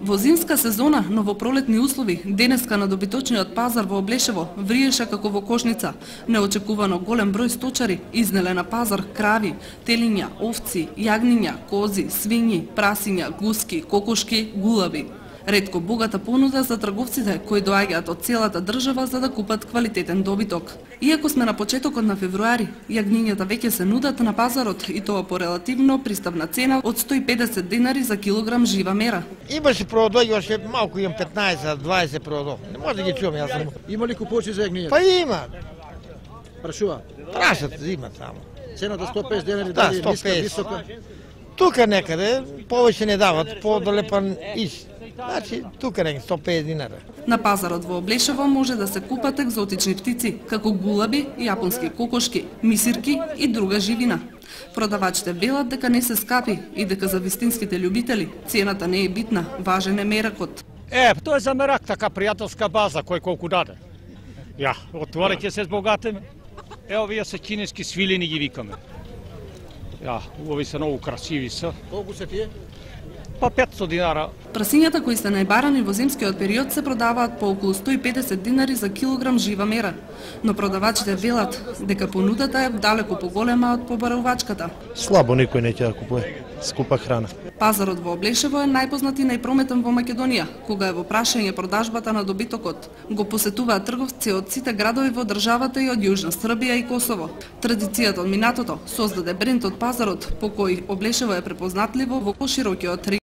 Во зимска сезона, новопролетни услови, денеска на добиточниот пазар во Облешево вриеше како во кошница. Неочекувано голем број сточари изнеле на пазар крави, телиња, овци, јагниња, кози, свињи, прасиња, гуски, кокошки, гулаби. Ретко богата понуда за трговците кои доаѓаат од целата држава за да купат квалитетен добиток. Иако сме на почетокот на февруари, јагнињата веќе се нудат на пазарот и тоа по релативно приставна цена од 150 денари за килограм жива мера. Имаше продојуваше малку, имам 15-20 продо. Не може да ги чувам, јас сум. Има ли купувачи за јагнињата? Па има. Прашува. Прашат, има само. Цената 150 денари, Да, дали е ниска, 150. висока? Тука некаде повеќе не дават, подолепан иш. Значи, тука не 150 динара. На пазарот во Облешево може да се купат екзотични птици, како гулаби, јапонски кокошки, мисирки и друга живина. Продавачите велат дека не се скапи и дека за вистинските љубители цената не е битна, важен е меракот. Тоа е за мерак, така пријателска база, кој колку даде. Ја, отвореќе се збогатиме. Овие се кинески свилини ги викаме. Ја, овие се многу красиви се. Колку се тие? Па 500 динара. Прасињата кои се најбарани во зимскиот период се продаваат по околу 150 динари за килограм жива мера, но продавачите велат дека понудата е далеку поголема од побарувачката. Слабо никој не ќе да купува скупа храна. Пазарот во Облешево е најпознат и најпрометен во Македонија, кога е во прашање продажбата на добитокот. Го посетуваат трговци од сите градови во државата и од Јужна Србија и Косово. Традицијата од минатото создаде бренд од пазарот, по кој Облешево е препознатливо во поширокиот регион.